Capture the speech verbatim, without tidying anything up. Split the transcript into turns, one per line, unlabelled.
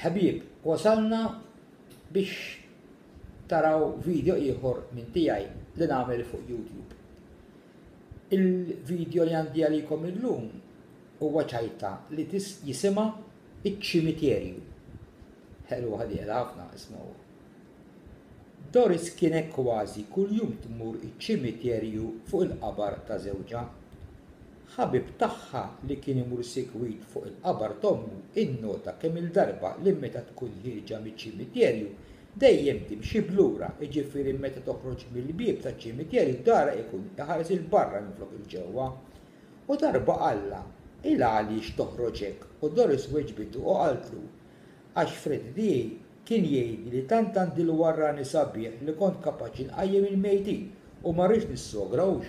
Ħbieb, wasalna biex taraw video ieħor minn tiegħi li nagħmel fuq YouTube. Il-video li għandi għalikom illum huwa ċajta li jisimha Iċ-Ċimiterju. Ħelwa ħadiela ħafna, ismgħu. Doris kienet kważi kuljum tmur iċ-ċimiterju fuq il-qabar ta' żewġha. Ħabib tagħha li kien imur sikwit fuq il-qabar t'ommu innota kemm-il darba li meta tkun ħierġa miċ-ċimiterju dejjem timxi b'lura, jiġifieri meta toħroġ mill-bieb taċ-ċimiterju darha ikun iħares 'il barra minflok 'il ġewwa. U darba qallha, 'Il għaliex toħroġ hekk? U Doris weġbitu u qaltlu, Għax Freddie tiegħi kien jgħidli li tant għandi l-warrani sabiħ li kont kapaċi nqajjem il-mejtin u ma rridx nissogra hux.